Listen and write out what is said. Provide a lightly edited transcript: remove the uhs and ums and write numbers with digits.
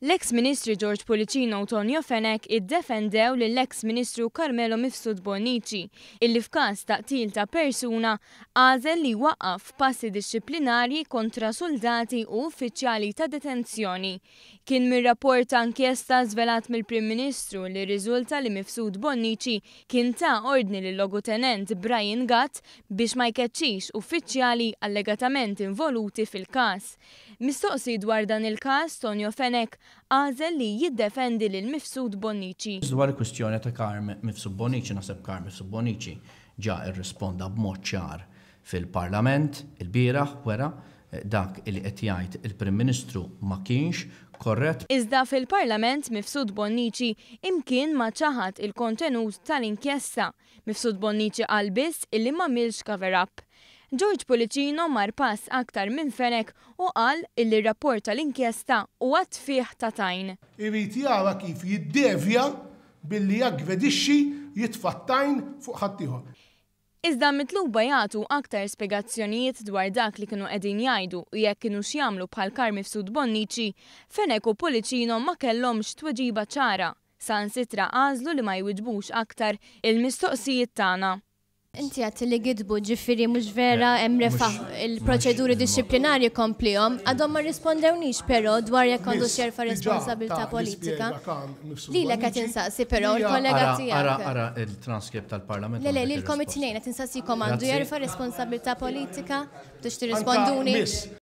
L-eks Ministri George Pullicino u Tonio Fenech iddefendew lill-eks Ministru Carmelo Mifsud Bonnici illi f'każ ta' qtil ta' persuna għażel li jwaqqaf passi dixxiplinarji kontra suldati u uffiċjali ta' detenzjoni. Kien mir-rapport ta' inkjesta żvelat mill-Prim Ministru li rriżulta li Mifsud Bonnici kien ta ordni lil-Logutenent Brian Gatt biex ma jkeċċix uffiċjali allegatament involuti fil-każ. Mistoqsi dwar dan il-każ, Tonio Fenech għażel li jiddefendi lil Mifsud Bonnici. Dwar il-kwistjoni ta' Carm Mifsud Bonnici, naħseb Carm Mifsud Bonnici ġa rrisponda b'mod ċar fil-Parlament ilbieraħ, wera dak li qed jgħid il-Prim Ministru ma kienx korrett. Iżda fil-Parlament Mifsud Bonnici imkien ma ċaħad il-kontenut tal-inkjesta. Mifsud Bonnici qal biss illi m'għamilx cover up. George Pullicino mar pass aktar minn Fenech u qal illi r-rapport tal-inkjesta huwa tfigħ ta' tajn. Irid jara kif jiddevja billi jaggredixxi, jitfa' t-tajn fuq ħaddieħor. Iżda mitluba jagħtu aktar spjegazzjonijiet dwar dak li kienu qegħdin jgħidu u jekk kinux jagħmlu bħal Carm Mifsud Bonnici, Fenech u Pullicino ma kellhomx tweġiba ċara. Saħansitra għażlu li ma jwiġbux aktar il-mistoqsijiet tagħna. Inti għedt li gidbu, ġifieri mhux vera hemm refa il-proċeduri dixxiplinarji komplihom, għadhom ma rrispondewnix però dwar jekk għandux jerfa' responsabilità politika. Lilek qed insaqsi però l-kollega tiegħek. Ara, ara il-transcript tal-Parlament. Le, le, lilkom it-tnejn qed insaqsikom għandu jerfa' responsabilità politika biex tirrisponduni.